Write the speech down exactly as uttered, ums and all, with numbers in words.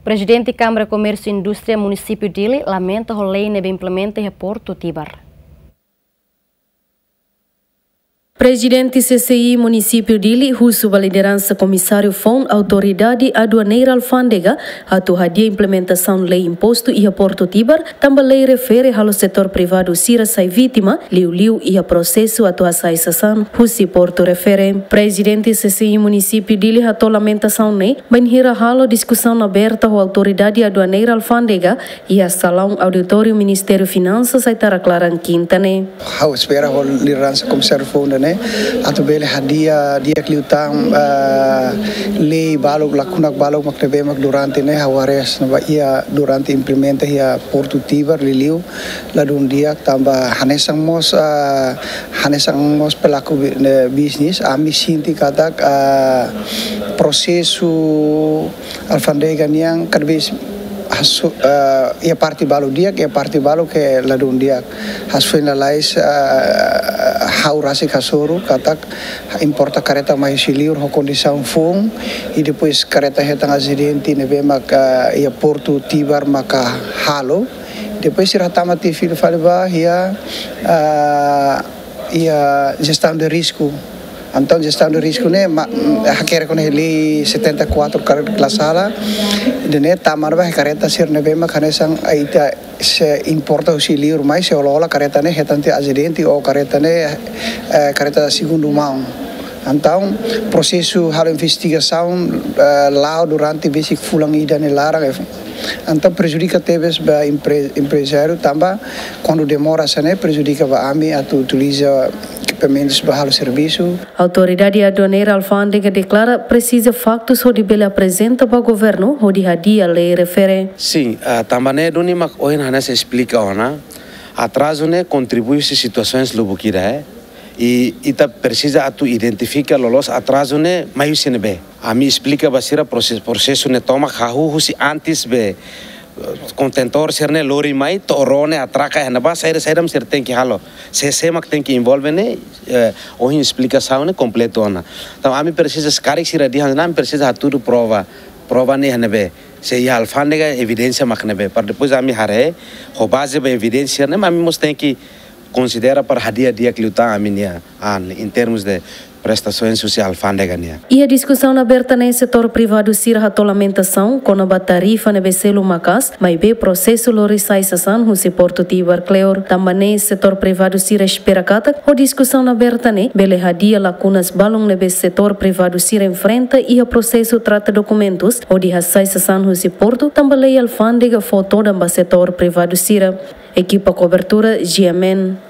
Prezidente Kámara Komérsiu Indústria Munisípiu Dili lamenta ho lei ne'ebé implementa iha Portu Tibar. Prezidente C C I Munisípiu Dili husu ba lideransa Komisáriu Foun Autoridade Aduaneira Alfándega atu hadi'a implementasaun lei impostu iha Portu Tibar, tanba lei refere halo setór privadu sira sai vítima liuliu iha prosesu atu hasai sasán husi portu refere. Prezidente C C I Munisípiu Dili hato'o lamentasaun ne'e bainhira halo diskusaun aberta ho Autoridade Aduaneira Alfándega iha salaun auditóriu Ministériu Finansas Aitarak Laran, Kinta ne'e. Ha'u espera ho lideransa Komisáriu Foun ida-ne'e atu bele hadi'a di'ak liután, ah, lei balu, lakuna balu mak ne'ebé mak durante ne'e ha'u haree hanesan ba iha durante implementa iha Portu Tibar liuliu ladún di'ak tanba hanesan mós, ah, hanesan mós pelaku bi-, ne'e, bisnis, ami sente katak, ah, prosesu alfándega nian kada vez hasu-, ah, iha parte balu di'ak, iha parte balu ke ladún di'ak. Hafoin lalais, ah, ha'u rasik hasoru katak importa kareta mai husi liur ho kondisaun foun, i depois kareta hetan asidente ne'ebé maka iha Portu Tibar maka halo. Depois sira hatama tiha fila fali ba iha, ah, iha jestaun de risku. Entaun jestaun de risku ne'e ma-, hakerek ho lei setenta e quatro kala sala. Ida-ne'e tama ba kareta sira ne'ebé mak hanesan ita sei importa husi liur mai sei hola-hola kareta ne'e hetan tiha asidente ou kareta ne'e, eh, kareta segundu maun. Entaun prosesu halo investigasaun, eh, la'o durante besik fulan ida nia laran, eh, entaun prejudika tebes ba empre-, emprezáriu tanba kuandu demora hanesan ne'e prejudika ba ami atu utiliza ekipamentus ba halo servisu. Autoridade Aduaneira Alfándega deklara presiza faktus hodi bele aprezenta ba governu hodi hadi'a lei refere. Sin, ah, tanba ne'e duni mak ohin hanesan esplika ona. Atrazu ne'e kontribui husi situasaun lubuk ida, eh. I ita presiza atu identifika loloos atrazu ne'e mai husi ne'ebé. Ami esplika ba sira proses-, prosesu ne'e tomak hahú husi antes be, eh, kontentór sira-ne'e lori mai, to'o ró ne'e atraka iha ne'ebá, saida, saida mak sira tenke halo. Sé, sé mak tenke envolve ne'e, eh, ohin esplikasaun ne'e kompletu ona. Entaun ami presiza se karik sira dehan, ami presiza hatudu prova, prova ne'e iha ne'ebé. Se iha alfándega evidénsia mak ne'ebé. Para depois ami haree, ho baze ba evidénsia ne'e, ami mós tenke konsidera para hadi'a di'ak liután ami-nia an, em termos de prestações husi alfándega nian. Iha diskusaun aberta ne'e setór privadu sira hato'o lamentasaun kona-ba tarifa ne'ebé selu maka'as, maibé prosesu lori sai sasán husi Portu Tibar kleur. Tanba ne'e setór privadu sira espera katak ho diskusaun aberta ne'e bele hadi'a lakunas balun ne'ebé setór privadu sira enfrenta iha prosesu trata dokumentus hodi hasai sasán husi portu, tanba lei alfándega fó todan ba setór privadu sira. Ekipa kobertura, G M N.